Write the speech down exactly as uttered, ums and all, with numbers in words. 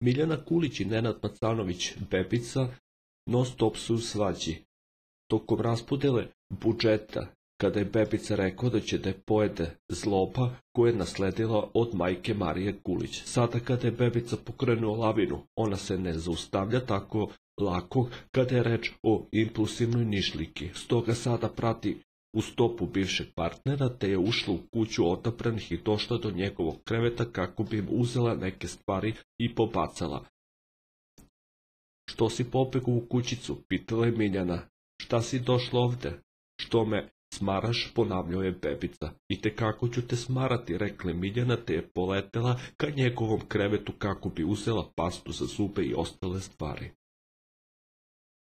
Miljana Kulić i Nenad Macanović Bebica non stop su u svađi. Tokom raspodele budžeta, kada je Bebica rekao da će da je pojede zloba koju je nasledila od majke Marije Kulić. Sada kada je Bebica pokrenuo lavinu, ona se ne zaustavlja tako lako kada je reč o impulsivnoj nišliki. Stoga sada prati u stopu bivšeg partnera, te je ušla u kuću odabranih i došla do njegovog kreveta kako bi im uzela neke stvari i pobacala. Što si pobegao u kućicu? Pitala je Miljana. Šta si došla ovde? Što me smaraš? Ponavljao je Bebica. I te kako ću te smarati, rekla Miljana, te je poletela ka njegovom krevetu kako bi uzela pastu za zube i ostale stvari.